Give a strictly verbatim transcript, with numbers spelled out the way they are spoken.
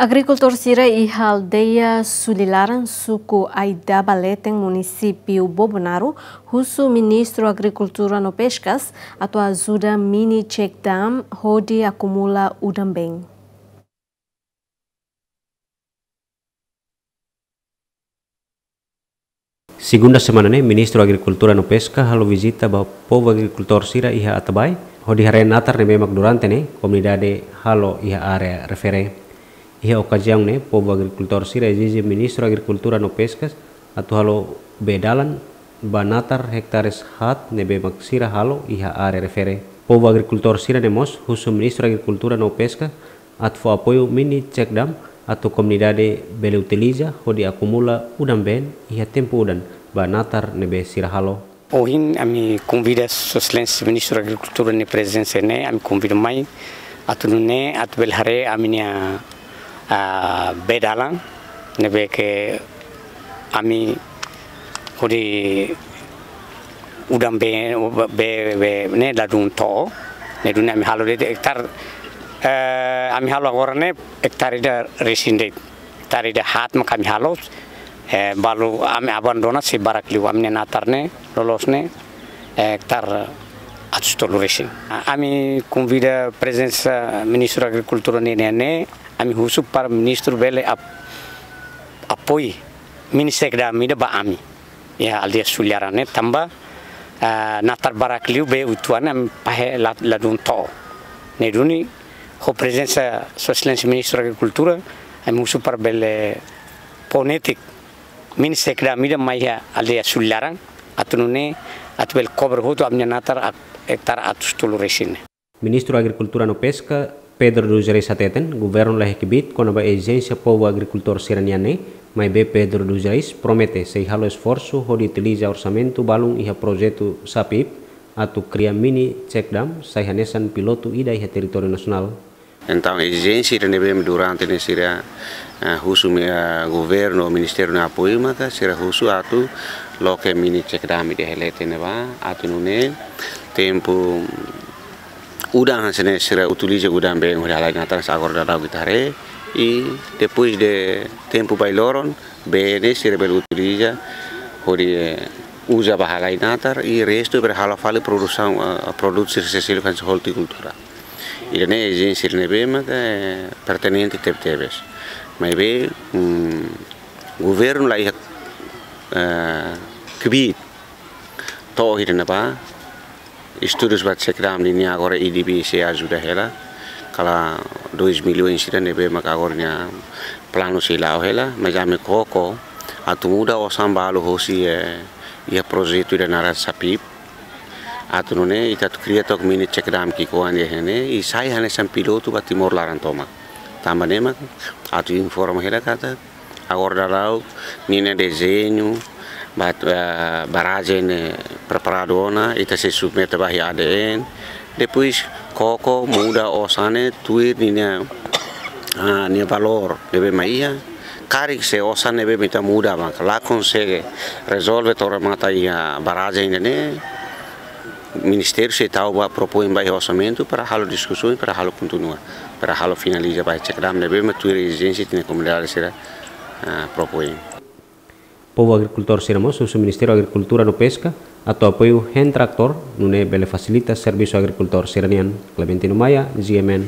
Agrikultór sira iha aldeia Sulilaran, suku Aidaba Leten, munisípiu Bobonaro, husu Ministru Agrikultura no Peskas atu ajuda mini check dam hodi akumula udan-been. Segunda semana ne'e, Ministru Agrikultura no Peska halo vizita ba povu agrikultór sira iha Atabae, hodi haree natar ne'ebé mak durante ne'e komunidade halo iha área refere. Iha okaziaun ne'e, povu agrikultór sira ezije Ministru Agrikultura no Peskas atu halo bee dalan ba natar hektares haat ne'ebé mak sira halo iha área refere. Povu agrikultór sira-ne'e mós husu Ministru Agrikultura no Peska atu fó apoiu mini check dam atu komunidade bele utiliza hodi akumula udan-been iha tempu udan ba natar ne'ebé sira halo. Ohin ami konvida Sua Exelénsia Ministru Agrikultura nia prezensa ne'e, ami konvida mai atu nune'e atu bele haree ami-nia, ah, bee dalan ne'ebé ke ami hodi udan-been, bee, bee ne'e ladún to'o, ne'e duni ami halo de'it ektare, eh, ami halo agora ne'e ektare ida resin de'it, ektare ida haat mak ami halo, eh, balu ami abandona sei barak liu, ami-nia natar ne'e loloos ne'e, eh, ektare atus tolu resin. A-, ami konvida prezensa Ministru Agrikultura ne'e, ne'e, ne'e, ami husu para Ministru bele ap-, apoiu mini check dam ida ba ami iha aldeia Sulilaran ne'e tanba, ah, natar barak liu bee uitoan ami fahe la-, ladún to'o. Ne'e duni ho prezensa Sua Exelénsia Ministru Agrikultura, ami husu para bele fó netik mini check dam ida mai iha aldeia Sulilaran, atu nune'e atu bele kobre hotu ami-nia natar at-, ektare atus tolu resin. Ministru Agrikultura no Peska, Pedro dos Reis hateten, governu laiha kbiit kona-ba ezijénsia povu agrikultór sira-nian ne'e, maibé Pedro dos Reis promete sei halo esforsu hodi utiliza orsamentu balun iha projetu SAPIP atu kria mini check dam sai hanesan pilotu ida iha territóriu nasionál. Entaun, ezijénsia ida ne'ebé durante ne'e sira, eh, husu, eh, governu, ministériu nia apoiu, maka sira husu atu loke mini check dam ida iha leten ne'ebá, atu nune'e tempu udan hanesan ne'e sira utiliza udan-been hodi halai natar, hanesan agora daudaun ita haree, i depois de tempu bailoron, bee ne'e sira bele utiliza hodi, eh, uza ba halai natar, i restu bele halo fali produsaun, eh, produtu sira seluk hanesan ortikultura. Ida-ne'e ezijénsia ida ne'ebé maka, eh, pertinente tebetebes. Maibé, mm, governu laiha, eh, kbiit to'o ida-ne'ebá, estudu ba check dam nian agora ADB sei ajuda hela, kala dois milhões ida ne'ebé maka agora nia planu sei la'o hela, mas ami koko atu muda osan balu hosi, eh, iha projetu ida naran SAPIP, atu nune'e ita atu kria took mini check dam ki'ikoan iha ne'e, i sai hanesan pilotu ba Timor laran tomak. Tanba ne'e mak atu informa hela katak agora daudaun ninia dezeñu ba, eh, barrajen ne'e preparadu ona, ita sei submete ba iha ADN. Depois koko muda osan ne'e tuir ninia, ah, nia valór ne'ebé mak iha. Karik se osan ne'ebé mak ita muda mak la konsege rezolve to'o remata iha barrajen ne'e, ministériu sei tau ba, propoin ba iha orsamentu para halo diskusaun, para halo kontinua, para halo finaliza ba check dam ne'ebé mak tuir ezijénsia ita-nia komunidade sira, ah, propoin. Povu agrikultór sira mós husu Ministériu Agrikultura no Peska atu apoiu hein traktór, nune'e bele fasilita servisu agrikultór sira-nian. Clementino Maia, GMN.